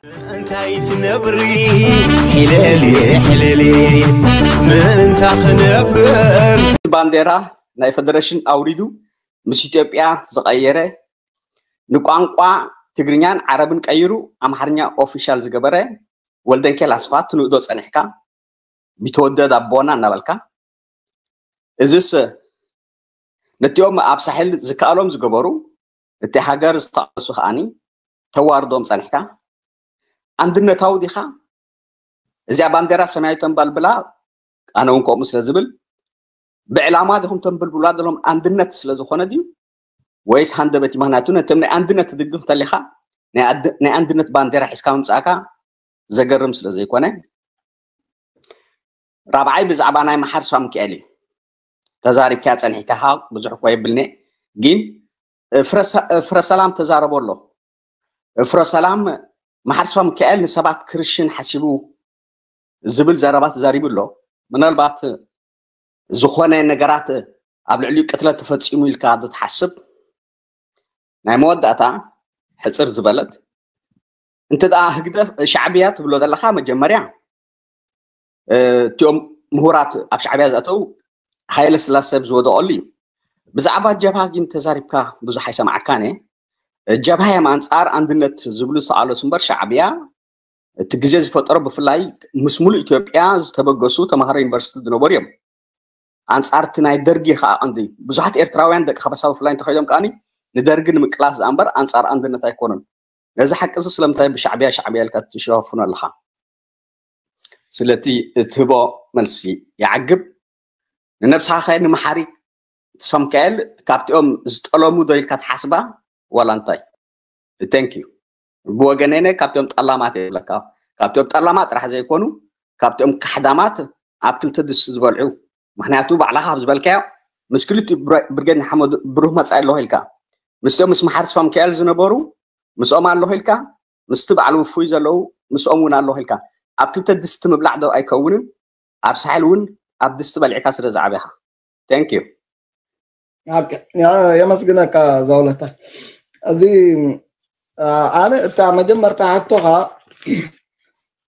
እንታይ ትነብሪ? ሕለሊ፣ ሕለሊ፣ ምእንታ ክነብር። ባንዴራ ናይ ፈደረሽን ኣውሪዱ ምስ ኢትዮጵያ ዝቐየረ፣ ንቋንቋ ትግርኛን ዓረብን ቀይሩ ኣምሓርኛ ኦፊሻል ዝገበረ ወልደንኬል ኣስፋ ትንእዶ ጸኒሕካ፣ ቢተወደድ ኣቦና እናበልካ፣ እዝስ ነቲኦም ኣብ ሳሕል ዝከኣሎም ዝገበሩ፣ እቲ ሃገር ዝተቓለሱ ከኣኒ ተዋርዶም ጸኒሕካ፣ ኣንድነታዊ ዲኻ? እዚኣ ባንዴራ ሰማያዊ ተንባልብላ፣ ኣነ እውን ከምኡ ስለ ዝብል፣ ብዕላማ ዲኹም ተንብልብሉዋ ዘለኹም? ኣንድነት ስለ ዝኾነ ድዩ? ወይስ ሃንደበት እዩ? ምኽንያቱ ነቶም ናይ ኣንድነት ትድግፍ እንተሊኻ፣ ናይ ኣድ-፣ ናይ ኣንድነት ባንዴራ ሒዝካ ምምጻእካ ዘገርም ስለ ዘይኮነ። ራብዓይ ብዛዕባ ናይ መሓር ስዋ ሚካኤል እዩ። ተዛሪብካያ ጸኒሕካ ብዙሕ እኮ የብልኒ፣ ግን ፍረ ሰ-፣ ፍረ ሰላም ተዛረቦ ኣሎ። ፍረ ሰላም መሓር ስዋ ሚካኤል ንሰባት ክርሽን ሓሲቡ ዝብል ዘረባ ተዛሪቡ ኣሎ። ምናልባት ዝኾነ ነገራት ኣብ ልዕሊኡ ቅትለት ተፈጺሙ ኢልካ ዶ ትሓስብ? ናይ መወዳእታ ሕጽር ዝበለት፣ እንተ ደኣ ህግደፍ፣ ሻዕብያ ትብሎ ዘለኻ፣ መጀመርያ፣ እ፣ እቲኦም ምሁራት ኣብ ሻዕብያ ዝኣተው ሃይለ ስላሴ ኣብ ዝወደቐሉ እዩ። ብዛዕባ ጀብሃ ግን ተዛሪብካ ብዙሕ ኣይሰማዕካን እየ። ጀብሃ እዮም ኣንጻር ኣንድነት ዝብሉ ዝተቓለሱ እምበር፣ ሻዕብያ እቲ ግዜ ዝፈጠሮ፣ ብፍላይ ምስ ሙሉእ ኢትዮጵያ ዝተበገሱ ተምሃሮ ዩኒቨርሲቲ ዝነበሩ እዮም። ኣንጻር እቲ ናይ ደርጊ ከዓ ቀንዲ ብዙሓት ኤርትራውያን ደቂ ከበሳ ብፍላይ እንተኸይዶም ከዓኒ ንደርጊ ንምቅላስ ዝኣ እምበር ኣንጻር ኣንድነት ኣይኮኑን። ነዚ ሓቂ እዚ ስለምንታይ ብሻዕብያ ሻዕብያ ኢልካ ትሸፋፍኖ ኣለኻ? ስለቲ እትህቦ መልሲ ይዓግብ። ንነብስኻ ኸ ንመሓሪ ተስፋ ሚካኤል ካብቲኦም ዝጠለሙ ዶ ኢልካ ትሓስባ ዋላ እንታይ? Thank you። ብወገነይ ካብቶም ጠላማት እየ ዝብለካ። ካብቶም ጠላማት ጥራሕ ዘይኮኑ፣ ካብቶም ካሕዳማት ኣብ ክልተ ድስቲ ዝበልዑ። ምኽንያቱ ባዕልኻ ካብ ዝበልካዮ፣ ምስ ክልቲኡ ብረ-፣ ብርጌድ ንሓመዱ ብሩህ መጻኢ ኣለኹ ኢልካ። ምስቶም ምስ መሓር ተስፋ ሚካኤል ዝነበሩ ምስኦም ኣለኹ ኢልካ፣ ምስቲ በዓል ውፉይ ዘለዉ ምስኦም እውን ኣለኹ ኢልካ። ኣብ ክልተ ድስቲ ምብላዕ ዶ ኣይከውንን? ኣብ ሳሕል እውን ኣብ ድስቲ በሊዕካ ስለ ዝዓበኻ። Thank you። ኦኬ፣ ያ-፣ የመስግነካ ዛውለታ። እዚ፣ አ፣ ኣነ እታ መጀመርታ ሕቶኻ፣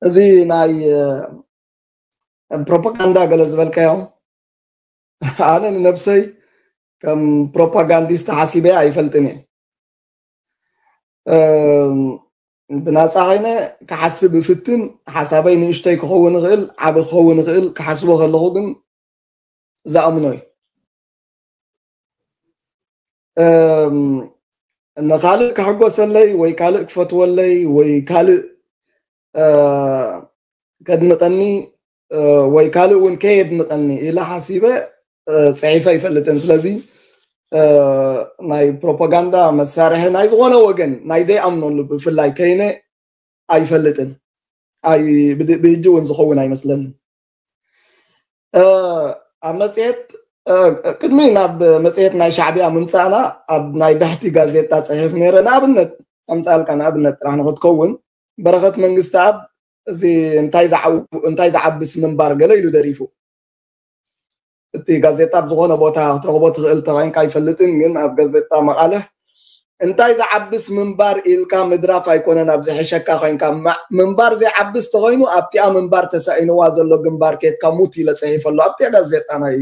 እዚ ናይ፣ እ፣ ፕሮፓጋንዳ ገለ ዝበልካዮ፣ ኣነ ንነብሰይ ከም ፕሮፓጋንዲስት ሓሲበ ኣይፈልጥን እየ። እም፣ ብናጻ ኸይነ ክሓስብ እፍትን፣ ሓሳበይ ንእሽተይ ክኸውን ይኽእል፣ ዓቢ ክኸውን ይኽእል፣ ክሓስቦ ከለኹ ግን ዝኣምኖ እዩ። እም፣ ንኻልእ ክሕጎሰለይ ወይ ካልእ ክፈትወለይ ወይ ካልእ፣ እ፣ ከድንቐኒ፣ እ፣ ወይ ካልእ እውን ከየድንቐኒ ኢለ ሓሲበ፣ እ፣ ጽሒፈ ኣይፈልጥን። ስለዚ፣ እ፣ ናይ ፕሮፓጋንዳ መሳርሒ ናይ ዝኾነ ወገን ናይ ዘይኣምነሉ ብፍላይ ከይነ ኣይፈልጥን። ኣይ፣ ብድ-፣ ብሕጂ እውን ዝኸውን ኣይመስለንን። እ፣ ኣብ መጽሔት፣ እ፣ ቅድሚ ናብ መጽሔት ናይ ሻዕብያ ምምጻእና ኣብ ናይ ብሕቲ ጋዜጣ ጽሒፍ ነይረ። ንኣብነት ኣምጻልካ፣ ንኣብነት ጥራሕ ንኽትከውን፣ በረኸት መንግስተኣብ እዚ እንታይ ዝዓው-፣ እንታይ ዝዓብስ ምንባር ገለ ኢሉ ደሪፉ። እቲ ጋዜጣ ኣብ ዝኾነ ቦታ ክትረኽቦ ትኽእል ተኾይንካ ኣይፈልጥን፣ ግን ኣብ ጋዜጣ መቓልሕ እንታይ ዝዓብስ ምንባር ኢልካ ምድራፍ ኣይኮነን፣ ኣብ ዝሕሸካ ኮይንካ ማ-፣ ምንባር ዘይዓብስ ተኾይኑ ኣብቲኣ ምንባር ተሳኢንዋ ዘሎ ግንባር ኬድካ ሙት ኢለ ጽሒፈ ኣሎ ኣብቲኣ ጋዜጣ ናይ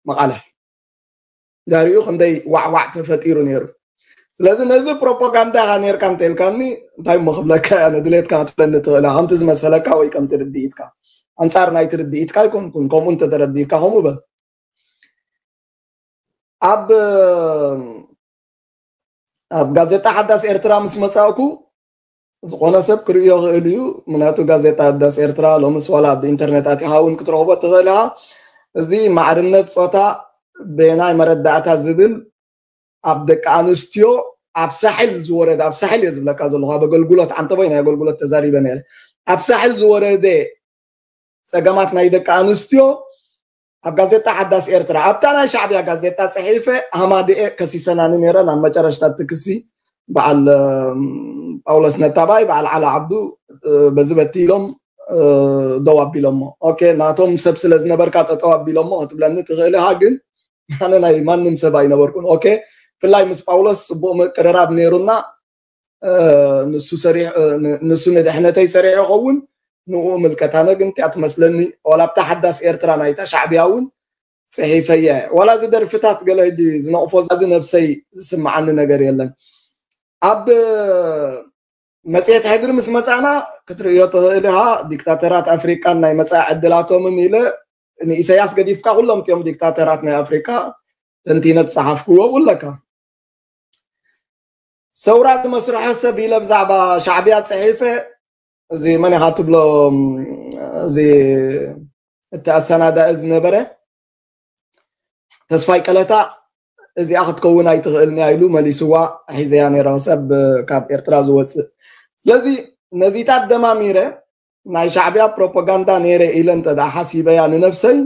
መቓልሕ። ዳሪኡ ክንደይ ዋዕዋዕ ተፈጢሩ ነይሩ። ስለዚ ነዚ ፕሮፓጋንዳ ኢኻ ነይርካ እንተኢልካኒ እንታይ እሞ ክብለካ እያ፣ ንድሌትካ ክትብለኒ ትኽእል ኢኻ፣ ከምቲ ዝመሰለካ ወይ ከምቲ ርድኢትካ። ኣንጻር ናይ ትርድኢትካ ኣይኮንኩን፣ ከምኡ እንተተረዲእካ ከምኡ በል። ኣብ፣ ኣብ ጋዜጣ ሓዳስ ኤርትራ ምስ መጻእኩ ዝኾነ ሰብ ክርእዮ ይኽእል እዩ። ምክንያቱ ጋዜጣ ሓዳስ ኤርትራ ሎምስ ዋላ ብኢንተርኔት ኣቲኻ እውን ክትረኽቦ ትኽእል ኢኻ። እዚ ማዕርነት ጾታ በየናይ መረዳእታ ዝብል ኣብ ደቂ ኣንስትዮ ኣብ ሳሕል ዝወረደ፣ ኣብ ሳሕል እየ ዝብለካ ዘለኹ፣ ኣብ ኣገልግሎት ዓንተቦይ ናይ ኣገልግሎት ተዛሪበ ነይረ። ኣብ ሳሕል ዝወረደ ጸገማት ናይ ደቂ ኣንስትዮ ኣብ ጋዜጣ ሓዳስ ኤርትራ፣ ኣብታ ናይ ሻዕብያ ጋዜጣ ጽሒፈ ሃማደኤ ከሲሰናኒ ነይረን። ኣብ መጨረሽታ እቲ ክሲ በዓል፣ እም፣ ጳውሎስ ነታባይ፣ በዓል ዓላ ዓብዱ፣ እ፣ በዚ በቲ ኢሎም፣ እ፣ ደው ኣቢሎሞ። ኦኬ፣ ናቶም ሰብ ስለ ዝነበርካ ጠጠው ኣቢሎሞ ክትብለኒ ትኽእል ኢኻ፣ ግን ኣነ ናይ ማንም ሰብ ኣይነበርኩን። ኦኬ፣ ብፍላይ ምስ ጳውሎስ ጽቡቕ ምቅርራብ ነይሩና። ንሱ ንድሕነተይ ሰሪሑ ይኸውን። ንኡ ምልከት ኣነ ግን እቲኣ ትመስለኒ ዋላ ኣብታ ሓዳስ ኤርትራ ናይታ ሻዕብያ እውን ፅሒፈየ። ዋላ እዚ ደርፍታት ገለ ሕጂ ዝነቕፎ እዚ ነብሰይ ዝስምዓኒ ነገር የለን። ኣብ መፅሄት ሕድሪ ምስ መፃና ክትርእዮ ትኽእል ኢኻ። ዲክታተራት ኣፍሪቃን ናይ መፃኢ ዕድላቶምን ኢለ ንኢሳያስ ገዲፍካ ኩሎም እቲኦም ዲክታተራት ናይ ኣፍሪቃ ተንቲነ ዝፀሓፍክዎ ኣለካ። ሰውራ ዝመስርሖ ሰብ ኢለ ብዛዕባ ሻዕብያ ፅሒፈ። እዚ መን ኢኻ ትብሎ? እዚ እቲ ኣሰናዳኢ ዝነበረ ተስፋይ ቀለታ እዚኣ ክትከውን ኣይትኽእልን እያ ኢሉ መሊስዋ። ሒዘያ ነይረ ሰብ ካብ ኤርትራ ዝወፅእ። ስለዚ ነዚታት ደማሚረ ናይ ሻዕብያ ፕሮፓጋንዳ ነይረ ኢለ እንተ ደኣ ሓሲበያ ንነብሰይ፣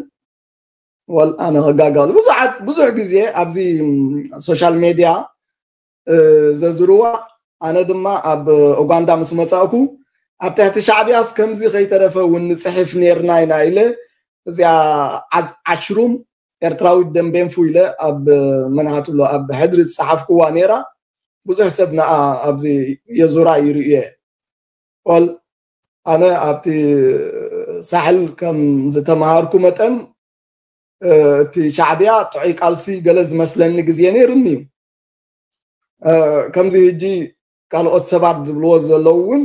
ወል ኣነ ከጋጋሉ ብዙሓት ብዙሕ ግዜ ኣብዚ ሶሻል ሜድያ ዘዝርዋ። ኣነ ድማ ኣብ ኡጋንዳ ምስ መጻእኩ ኣብ ትሕቲ ሻዕብያስ ከምዚ ከይተረፈ እውን ንጽሕፍ ነርና ኢና ኢለ እዚኣ ዓሽሩም ኤርትራዊት ደንቤንፉ ኢለ ኣብ መናሃትሎ ኣብ ሕድሪ ዝጸሓፍክዋ ነይራ። ብዙሕ ሰብ ንኣ ኣብዚ የዙራ ይርእየ። ወል ኣነ ኣብቲ ሳሕል ከም ዝተምሃርኩ መጠን እቲ ሻዕብያ ጥዑይ ቃልሲ ገለ ዝመስለኒ ግዜ ነይሩኒ እዩ። ከምዚ ሕጂ ካልኦት ሰባት ዝብልዎ ዘለዉ እውን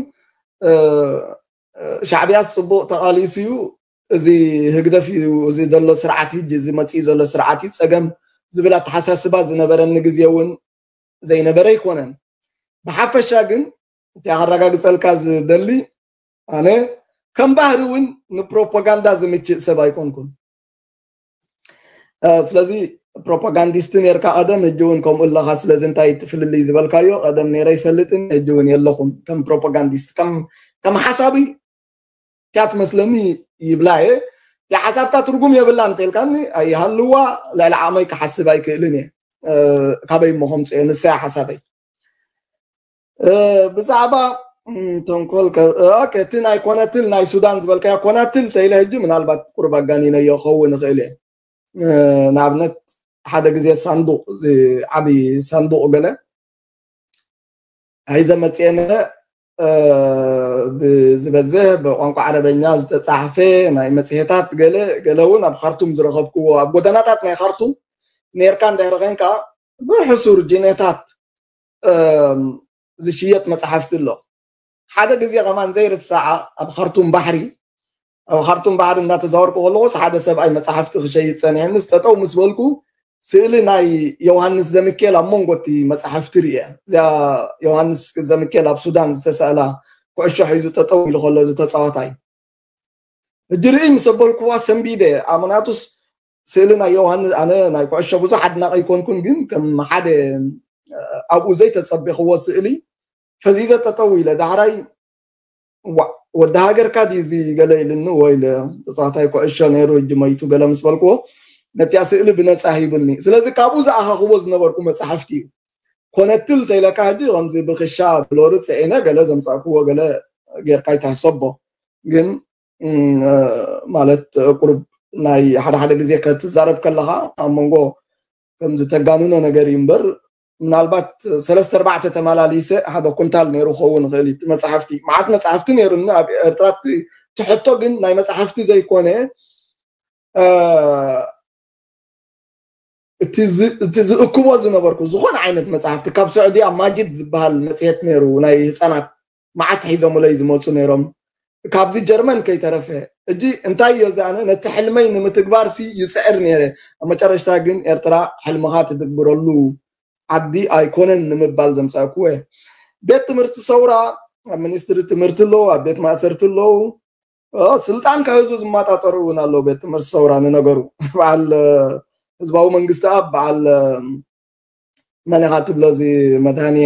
ሻዕብያስ ፅቡቕ ተቓሊሱ እዩ፣ እዚ ህግደፍ እዩ፣ እዚ ዘሎ ስርዓት ሕጂ እዚ መፅኡ ዘሎ ስርዓት እዩ ፀገም ዝብል ኣተሓሳስባ ዝነበረኒ ግዜ እውን ዘይነበረ ኣይኮነን። ብሓፈሻ ግን እቲ ከረጋግፀልካ ዝደሊ ኣነ ከም ባህሪ እውን ንፕሮፓጋንዳ ዝምችእ ሰብ ኣይኮንኩን። ስለዚ ፕሮፓጋንዲስት ነርካ ቀደም፣ ሕጂ እውን ከምኡ ኣለኻ። ስለዚ እንታይ ትፍልልይ ዝበልካዮ ቀደም ነይረ ይፈልጥን ሕጂ እውን የለኹም። ከም ፕሮፓጋንዲስት ከም ሓሳቢ እቲኣ ትመስለኒ ይብላ እየ። እቲኣ ሓሳብካ ትርጉም የብላ እንተልካኒ ኣይሃልዋ፣ ልዕሊ ዓቕመይ ክሓስብ ኣይክእልን እየ። ካበይ እሞ ከምፅኦ ንሳያ ሓሳበይ። ብዛዕባ ተንኮል እቲ ናይ ኮነትል ናይ ሱዳን ዝበልካዮ ኮነትል ተይለ ሕጂ ምናልባት ቁርብ ኣጋኒነዮ ክኸውን ይኽእል እየ። ንኣብነት ሓደ ግዜ ሳንዱቕ ዓብዪ ሳንዱቕ ገለ ሒዘ መፅኤ ነረ። ዝበዝሕ ብቋንቋ ዓረበኛ ዝተፃሕፈ ናይ መፅሄታት ገለ ገለ እውን ኣብ ካርቱም ዝረኸብክዎ ኣብ ጎደናታት ናይ ካርቱም ነርካ እንድሕሪ ኸይንካ ብሕሱር ጅኔታት ዝሽየጥ መፅሓፍቲ ኣሎ። ሓደ ግዜ ከማን ዘይርሳዓ ኣብ ካርቱም ባሕሪ ኣብ ካርቱም ባሕሪ እናተዛወርኩ ከለኹስ ሓደ ሰብኣይ መፅሓፍቲ ክሸይጥ ፀኒሐ ምስ ጠጠው ምስ በልኩ ስእሊ ናይ ዮሃንስ ዘምኬል ኣብ መንጎ እቲ መፅሓፍቲ ርእየ። እዚኣ ዮሃንስ ዘምኬል ኣብ ሱዳን ዝተሰእላ ኩዕሾ ሒዙ ጠጠው ኢሉ ከሎ እዚ ተፃዋታይ ሕጂ ርኢ ምስ ኣበልኩዋ ሰንቢደ። ኣመናቱስ ስእሊ ናይ ዮሃንስ ኣነ ናይ ኩዕሾ ብዙሕ ኣድናቂ ኣይኮንኩን፣ ግን ከም ሓደ ኣብኡ ዘይተፀቤኽዎ ስእሊ ፈዚዘ ጠጠው ኢለ ዳሕራይ ወዲ ሃገርካ ድዩ እዚ ገለ ኢልኒ ወይ ኢለ ተፃዋታይ ኩዕሾ ነይሩ ሕጂ መይቱ ገለ ምስ በልክዎ ነቲያ ስእሊ ብነፃ ሂብኒ። ስለዚ ካብኡ ዝኣኻኽቦ ዝነበርኩ መፅሓፍቲ እዩ። ኮነትል ተይለካ ሕጂ ከምዚ ብክሻ ብሎሪ ፅዒነ ገለ ዘምፃእክዎ ገለ ጌርካ ይትሕሰቦ። ግን ማለት ቁሩብ ናይ ሓደ ሓደ ግዜ ክትዛረብ ከለኻ ኣብ መንጎ ከምዚ ተጋንኖ ነገር እዩ እምበር ምናልባት ሰለስተ ኣርባዕተ ተመላሊሰ ሓደ ኩንታል ነይሩ ክኸውን ይኽእል እዩ። መፅሓፍቲ መዓት መፅሓፍቲ ነይሩኒ ኣብ ኤርትራ። ትሕቶ ግን ናይ መፅሓፍቲ ዘይኮነ እቲ ዝእክቦ ዝነበርኩ ዝኾነ ዓይነት መፅሓፍቲ ካብ ስዑድያ ማጅድ ዝበሃል መፅሄት ነይሩ ናይ ህፃናት መዓት ሒዞምለይ ዝመፁ ነይሮም። ካብዚ ጀርመን ከይተረፈ እጂ እንታይ እዮ እዚ ኣነ ነቲ ሕልመይ ንምትግባር ሲ ይፅዕር ነይረ። ኣብ መጨረሽታ ግን ኤርትራ ሕልምኻ ትትግብረሉ ዓዲ ኣይኮነን ንምባል ዘምፃእኩዎ እየ። ቤት ትምህርቲ ሰውራ ኣብ ሚኒስትሪ ትምህርቲ ኣለዉ፣ ኣብ ቤት ማእሰርቲ ኣለዉ። ስልጣን ክሕዙ ዝመጣጠሩ እውን ኣለዉ። ቤት ትምህርቲ ሰውራ ንነገሩ በዓል ህዝባዊ መንግስቲ ኣብ በዓል መን ኢኻ ትብሎ እዚ መድሃኒ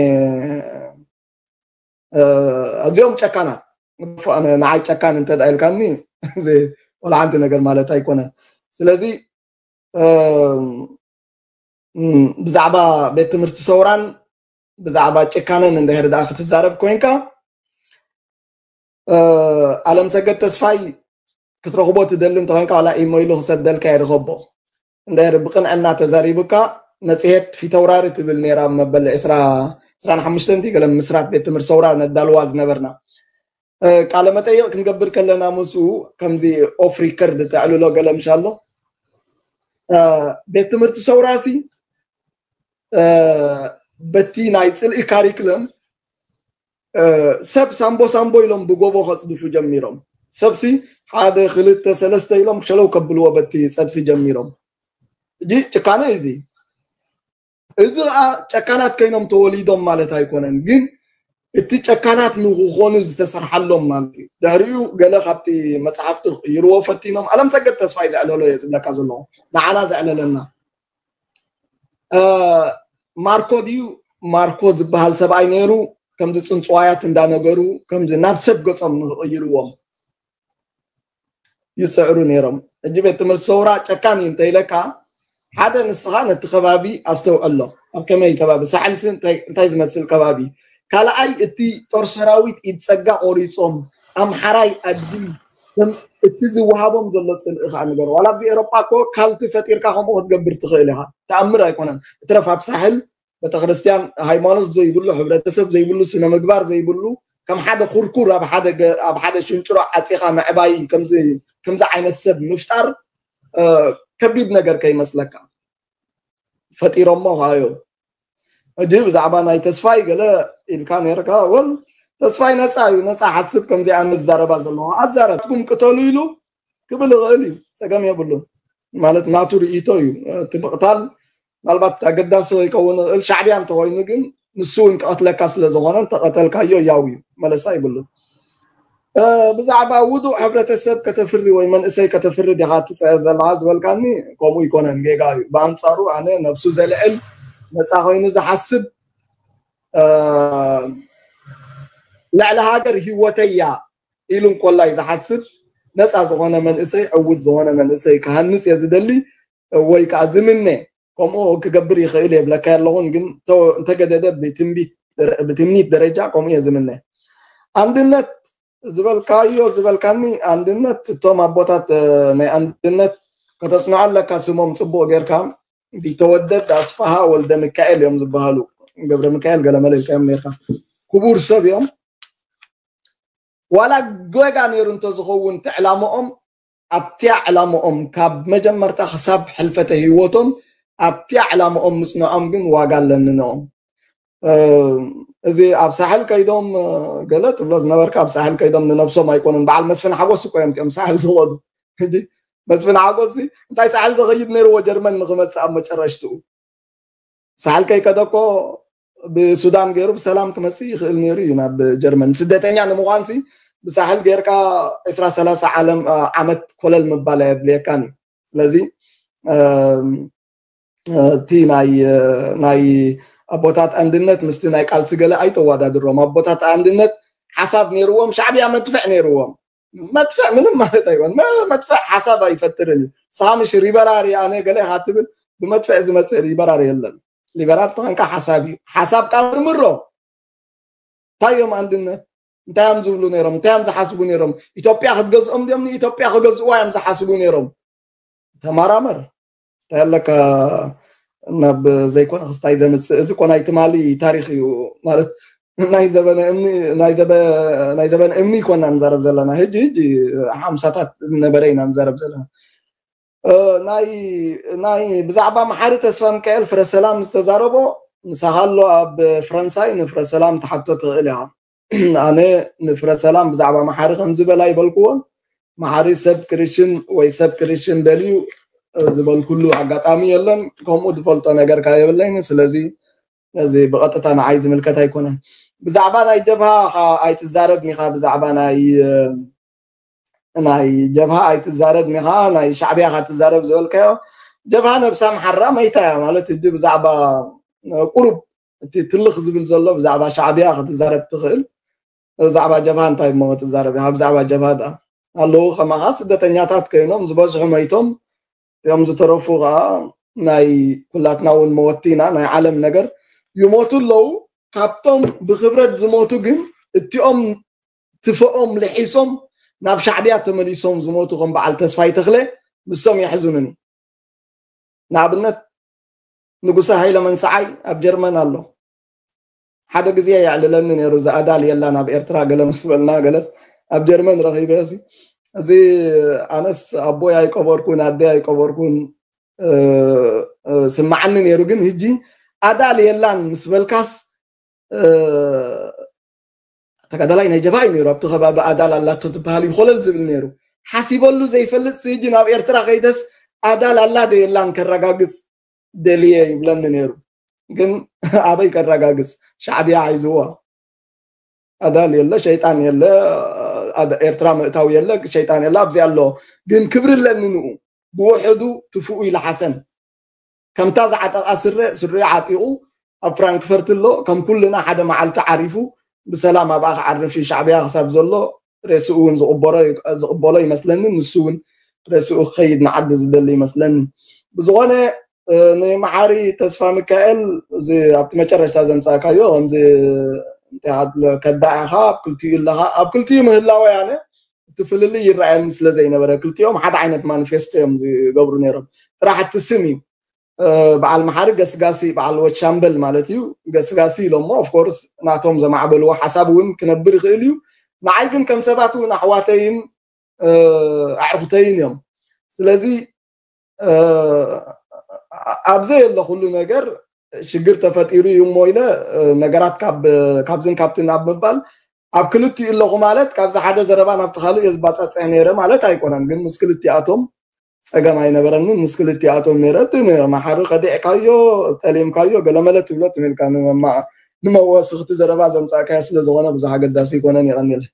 ኣዚኦም ጨካናት። ንዓይ ጨካን እንተ ኢልካኒ እዚ ወላ ሓንቲ ነገር ማለት ኣይኮነን። ስለዚ ብዛዕባ ቤት ትምህርቲ ሰውራን ብዛዕባ ጭካነን እንድሕር ደኣ ክትዛረብ ኮይንካ ኣለም ሰገድ ተስፋይ ክትረኽቦ ትደሊ እንተኮንካ ዋላ ኢሞ ኢሉ ክሰደልካ ይርኸቦ። እንድሕር ብቅንዕና ተዛሪቡካ መፅሄት ፊተውራሪ ትብል ነይራ መበል ዕስራ ዕስራን ሓሙሽተን ድዩ ገለ ምስራት ቤት ትምህርቲ ሰውራ ነዳልዋ ዝነበርና። ቃለ መጠይቕ ክንገብር ከለና ምስኡ ከምዚ ኦፍ ሪከርድ ተዕልሎ ገለ ምሻሎ ቤት ትምህርቲ ሰውራሲ በቲ ናይ ፅልኢ ካሪክለም ሰብ ሳምቦ ሳምቦ ኢሎም ብጎቦ ከፅድፉ ጀሚሮም። ሰብሲ ሓደ ክልተ ሰለስተ ኢሎም ሸለው ከብልዎ በቲ ፀድፊ ጀሚሮም። እጂ ጭካነ እዚ እዚ ከዓ ጨካናት ከይኖም ተወሊዶም ማለት ኣይኮነን፣ ግን እቲ ጨካናት ንክኾኑ ዝተሰርሓሎም ማለት እዩ። ድሕሪኡ ገለ ካብቲ መፅሓፍቲ ክቕይርዎ ፈቲኖም። ኣለም ሰገድ ተስፋይ ዘዕለሎ እየ ዝብለካ ዘለኹ፣ ንዓና ዘዕለለና። ማርኮ ድዩ ማርኮ ዝበሃል ሰብኣይ ነይሩ። ከምዚ ፅንፅዋያት እንዳነገሩ ከምዚ ናብ ሰብ ገፆም ንክቕይርዎም ይፅዕሩ ነይሮም። ሕጂ ቤት ትምህርቲ ሰውራ ጨካን እዩ እንተኢለካ ሓደ ንስኻ ነቲ ከባቢ ኣስተውዕሎ። ኣብ ከመይ ከባቢ ሳሕልሲ እንታይ ዝመስል ከባቢ? ካልኣይ እቲ ጦር ሰራዊት ኢድ ፀጋ ቆሪፆም ኣምሓራይ ኣድጊ እቲ ዝወሃቦም ዘሎ ፅልኢ ከዓ ንገር። ዋላ ኣብዚ ኤሮጳ እኮ ካልቲ ፈጢርካ ከምኡ ክትገብር ትኽእል ኢኻ። ተኣምር ኣይኮነን። እትረፍ ኣብ ሳሕል ቤተክርስትያን ሃይማኖት ዘይብሉ፣ ሕብረተሰብ ዘይብሉ፣ ስነ ምግባር ዘይብሉ፣ ከም ሓደ ኩርኩር ኣብ ሓደ ገ- ኣብ ሓደ ሽንጭሮ ዓፂኻ ምዕባይ ከምዚ ከምዚ ዓይነት ሰብ ምፍጣር እ፣ ከቢድ ነገር ከይመስለካ። ፈጢሮሞ ካዮ። እጂ ብዛዕባ ናይ ተስፋይ ገለ ኢልካ ነርካ። ወል ተስፋይ ነፃ እዩ፣ ነፃ ሓስብ። ከምዚ ኣነ ዝዛረባ ዘለኹ ኣዛረብኩም ቅተሉ ኢሉ ክብል ይኽእል እዩ፣ ፀገም የብሉን። ማለት ናቱ ርእይቶ እዩ። እቲ ምቕታል ምናልባት ኣገዳሲ ይከውን ይኽእል ሻዕብያ እንተኮይኑ፣ ግን ንሱ እውን ክቐትለካ ስለ ዝኾነ እንተቐተልካዮ ያው እዩ፣ መለሳ ይብሉን። ብዛዕባ ውዱእ ሕብረተሰብ ከተፍሪ ወይ መንእሰይ ከተፍሪ ዲኻ ትፅዕር ዘለኻ ዝበልካኒ፣ ከምኡ ይኮነን፣ ጌጋ እዩ። ብኣንፃሩ ኣነ ነብሱ ዘልዕል፣ ነፃ ኮይኑ ዝሓስብ፣ ልዕሊ ሃገር ህይወተያ ኢሉ እንኮላይ ዝሓስብ ነፃ ዝኾነ መንእሰይ፣ ዕውት ዝኾነ መንእሰይ ክሃንፅ እየ ዝደሊ። ወይ ከዓ ዝምነ ከምኡ ክገብር ይኽእል የብለካ ኣለኹን፣ ግን እንተገደደ ብትምኒት ደረጃ ከምኡ እየ ዝምነ። ኣንድነት ዝበልካዮ ዝበልካኒ፣ ኣንድነት እቶም ኣቦታት ናይ ኣንድነት ከተፅንዖ ኣለካ። ስሞም ፅቡቅ ጌርካ ቢተወደድ ኣስፋሃ ወልደ ሚካኤል እዮም ዝበሃሉ። ገብረ ሚካኤል ገለመለ ኢልካዮም ኔርካ። ክቡር ሰብ እዮም። ዋላ ጌጋ ነይሩ እንተዝኸውን እቲ ዕላምኦም ኣብቲያ ዕላምኦም ካብ መጀመርታ ክሳብ ሕልፈተ ህይወቶም ኣብቲያ ዕላምኦም ምፅንዖም ግን ዋጋ ኣለኒ ንኦም። እዚ ኣብ ሳሕል ከይዶም ገለ ትብሎ ዝነበርካ ኣብ ሳሕል ከይዶም ንነብሶም ኣይኮኑን። በዓል መስፍን ሓጎስ እኮ እዮም እቲኦም ሳሕል ዝኸዱ። ሕጂ መስፍን ሓጎስ እንታይ ሳሕል ዘኸይድ ነይርዎ ጀርመን ንክመፅእ ኣብ መጨረሽትኡ ሳሕል ከይከደ እኮ ብሱዳን ገይሩ ብሰላም ክመፅእ ይኽእል ነይሩ እዩ ናብ ጀርመን። ስደተኛ ንምዃንሲ ብሳሕል ጌርካ ዕስራ ሰላሳ ዓለም ዓመት ኮለል ምባል ኣየድልየካን እዩ። ስለዚ እቲ ናይ ናይ ኣቦታት ኣንድነት ምስቲ ናይ ቃልሲ ገለ ኣይተዋዳድሮም። ኣቦታት ኣንድነት ሓሳብ ነይርዎም፣ ሻዕብያ መድፍዕ ነይርዎም። መጥፍዕ ምንም ማለት ኣይኮን። መጥፍዕ ሓሳብ ኣይፈጥርን እዩ። ሳምሽ ሪበራሪ ኣነ ገለ ኢኻ ትብል፣ ብመጥፍዕ ዝመፅእ ሊበራር የለን። ሊበራል ተኾንካ ሓሳብ እዩ። ሓሳብካ ምርምሮ። እንታይ እዮም ኣንድነት? እንታይ እዮም ዝብሉ ነይሮም? እንታይ እዮም ዝሓስቡ ነይሮም? ኢትዮጵያ ክትገዝኦም ድዮም ንኢትዮጵያ ክገዝእዋ እዮም ዝሓስቡ ነይሮም? ተመራመር። እንታይ ኣለካ ናብ ዘይኮነ ክስታይ ዘምፅእ? እዚ እኮ ናይ ትማሊ ታሪክ እዩ ማለት ናይ ዘበነ እምኒ ናይ ዘበ ናይ ዘበነ እምኒ ይኮና ንዛረብ ዘለና ሕጂ ሕጂ ሓምሳታት ዝነበረ ኢና ንዛረብ ዘለና። ናይ ናይ ብዛዕባ መሓሪ ተስፋ ሚካኤል ፍረ ሰላም ዝተዛረቦ ምሳኻ ኣሎ ኣብ ፈረንሳይ ንፍረ ሰላም ትሓቶ ትኽእል ኢኻ። ኣነ ንፍረ ሰላም ብዛዕባ መሓሪ ከም ዝበላ ይበልክዎ። መሓሪ ሰብ ክርሽን ወይ ሰብ ክርሽን ደልዩ ዝበልኩሉ ኣጋጣሚ የለን። ከምኡ ዝፈልጦ ነገር ከ የብለይን። ስለዚ እዚ ብቐጥታ ንዓይ ዝምልከት ኣይኮነን። ብዛዕባ ናይ ጀብሃ ኣይትዛረብን ኢኻ። ብዛዕባ ናይ ናይ ጀብሃ ኣይትዛረብን ኢኻ፣ ናይ ሻዕብያ ኢኻ ትዛረብ ዝበልካዮ። ጀብሃ ነብሳ ምሓራ መይታ እያ ማለት ሕጂ ብዛዕባ ቁሩብ እቲ ትልኽ ዝብል ዘሎ ብዛዕባ ሻዕብያ ክትዛረብ ትኽእል። ብዛዕባ ጀብሃ እንታይ እሞ ክትዛረብ ኢኻ? ብዛዕባ ጀብሃ ደኣ ኣለዉ ከማኻ ስደተኛታት ኮይኖም ዝበዝሑ መይቶም እዮም፣ ዝተረፉ ከዓ ናይ ኩላትና እውን መወቲ ኢና። ናይ ዓለም ነገር ይሞቱ ኣለዉ። ካብቶም ብክብረት ዝሞቱ ግን እቲኦም ትፈኦም ልሒሶም ናብ ሻዕብያ ተመሊሶም ዝሞቱ ከም በዓል ተስፋይ ተኽለ ንሶም የሕዝኑኒ። ንኣብነት ንጉሰ ሃይለ መንሰዓይ ኣብ ጀርመን ኣሎ። ሓደ ግዜ የዕልለኒ ነይሩ። እዚ ኣዳል የላን ኣብ ኤርትራ ገለ ምስ በልና፣ ገለስ ኣብ ጀርመን ረኺበ እዚ፣ እዚ ኣነስ ኣቦይ ኣይቀበርኩን፣ ኣደይ ኣይቀበርኩን፣ እ፣ እ፣ ስማዓኒ ነይሩ። ግን ህጂ ኣዳል የላን ምስ በልካስ፣ እ፣ ተጋዳላይ ናይ ጀብሃ እዩ ነይሩ። ኣብቲ ከባቢ ኣዳል ኣላቶ ትበሃል እዩ ኮለል ዝብል ነይሩ። ሓሲበሉ ዘይፈልጥ ህጂ ናብ ኤርትራ ከይደስ ኣዳል ኣላ ዶ የላን ከረጋግጽ ደልየ ይብለኒ ነይሩ። ግን ኣበይ ከረጋግጽ? ሻዕብያ ሓይዝዋ። ኣዳል የለ፣ ሸይጣን የለ፣ ኣዳ-፣ ኤርትራ ምእታው የለ፣ ሸይጣን የለ፣ ኣብዚ ኣሎ። ግን ክብሪ ኣለኒ ንኡ። ብውሕዱ ትፉኡ ይልሓሰን። ከምታ ዝዓጠቓ ስረ፣ ስሪኡ ዓጢቑ ኣብ ፍራንክፈርት ኣሎ። ከም ኩልና ሓደ መዓልቲ ዓሪፉ ብሰላም ኣብኣ ክዓርፍ እዩ። ሻዕብያ ክሳብ ዘሎ ሬስኡ እውን ዝቕበሮ፣ ዝቕበሎ ይመስለኒ። ንሱ እውን ሬስኡ ክኸይድ ንዓዲ ዝደሊ ይመስለኒ። ብዝኾነ፣ እ፣ ንመሓሪ ተስፋ ሚካኤል፣ እዚ ኣብቲ መጨረሽታ ዘምጻእካዮ፣ ከምዚ እንታይ ኣድሎ ከዳዕ ኢኻ፣ ኣብ ክልቲኡ ኣለኻ። ኣብ ክልቲኡ ምህላወይ ኣነ እቲ ፍልልይ ይረኣየኒ ስለ ዘይነበረ፣ ክልቲኦም ሓደ ዓይነት ማኒፌስቶ እዮም ዝገብሩ ነይሮም። ጥራሕ እቲ ስም እዩ። እ፣ በዓል መሓሪ ገስጋሲ፣ በዓል ወቻምበል ማለት እዩ። ገስጋሲ ኢሎሞ፣ ኦፍኮርስ፣ ናቶም ዘማዕበልዎ ሓሳብ እውን ክነብር ይኽእል እዩ። ንዓይ ግን ከም ሰባት እውን ኣሕዋተይን፣ እ፣ ኣዕርኹተይን እዮም። ስለዚ፣ እ፣ ኣብ ዘየለ ኩሉ ነገር ሽግር ተፈጢሩ እዩ እሞ ኢለ፣ እ፣ ነገራት ካብ፣ ካብዝን ካብትን ኣብ ምባል፣ ኣብ ክልቲኡ ኣለኹ ማለት ካብዚ ሓደ ዘረባ ናብቲ ካልእ እየ ዝባጻጽሕ ነይረ ማለት ኣይኮነን። ግን ምስ ክልቲኣቶም ጸገም ኣይነበረንን። ምስ ክልቲኣቶም ነይረ። እቲ ንመሓሪ ከዲዕካዮ፣ ጠሊምካዮ፣ ገለመለ ትብሎ ትም ኢልካ ንመማ-፣ ንመወስኽቲ ዘረባ ዘምጻእካዮ ስለ ዝኾነ ብዙሕ ኣገዳሲ ኣይኮነን። የቐንየለይ።